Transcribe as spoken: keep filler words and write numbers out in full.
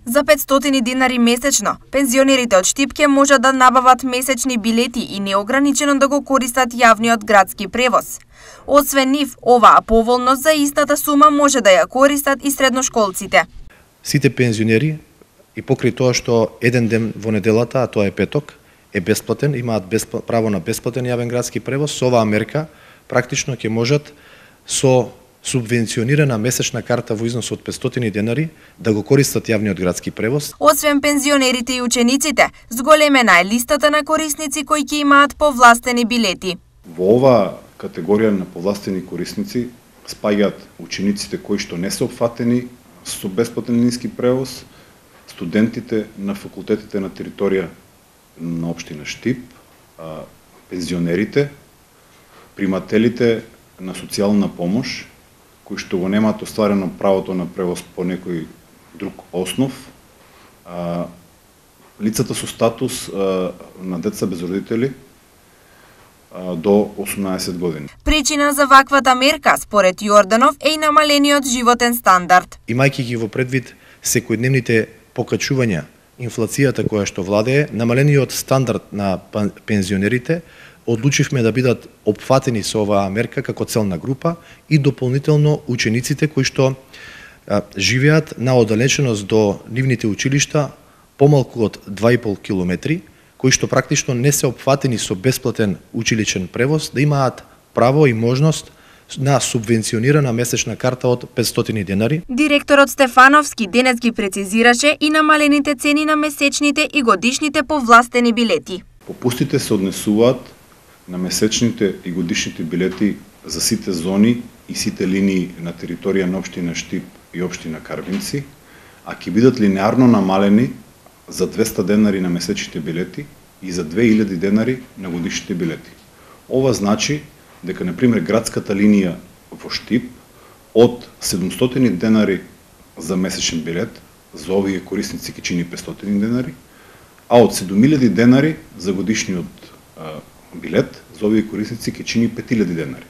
За петстотини динари месечно, пензионерите од Штип ќе можат да набават месечни билети и неограничено да го користат јавниот градски превоз. Освен нив, оваа поволност за истата сума може да ја користат и средношколците. Сите пензионери и покрај тоа што еден ден во неделата, а тоа е петок, е бесплатен, имаат бесп... право на бесплатен јавен градски превоз, со оваа мерка практично ќе можат со субвенционирана месечна карта во износ од петстотини денари да го користат јавниот градски превоз. Освен пензионерите и учениците, зголемена е листата на корисници кои ќе имаат повластени билети. Во оваа категорија на повластени корисници спаѓаат учениците кои што не се опфатени со бесплатен лински превоз, студентите на факултетите на територија на општина Штип, пензионерите, примателите на социјална помош, кои што го немаат остварено правото на превоз по некој друг основ, лицата со статус на деца без родители до осумнаесет години. Причина за ваквата мерка, според Јорданов, е и намалениот животен стандард. Имајќи ги во предвид секојдневните покачувања, инфлацијата која што владее, намалениот стандард на пензионерите, одлучивме да бидат опфатени со оваа мерка како целна група и дополнително учениците кои што а, живеат на оддалеченост до нивните училишта помалку од два и пол километри, кои што практично не се опфатени со бесплатен училичен превоз, да имаат право и можност на субвенционирана месечна карта од петстотини денари. Директорот Стефановски денес ги прецизираше и намалените цени на месечните и годишните повластени билети. Попустите се однесуваат на месечните и годишните билети за сите зони и сите линии на територија на општина Штип и општина Карвинци, а ќе бидат линеарно намалени за двеста денари на месечните билети и за две илјади денари на годишните билети. Ова значи дека, например, градската линија во Штип од седумстотини денари за месечен билет, за овие корисници ќе чини петстотини денари, а од седум илјади денари за годишниот билет, за овие корисници ќе чини пет илјади денари.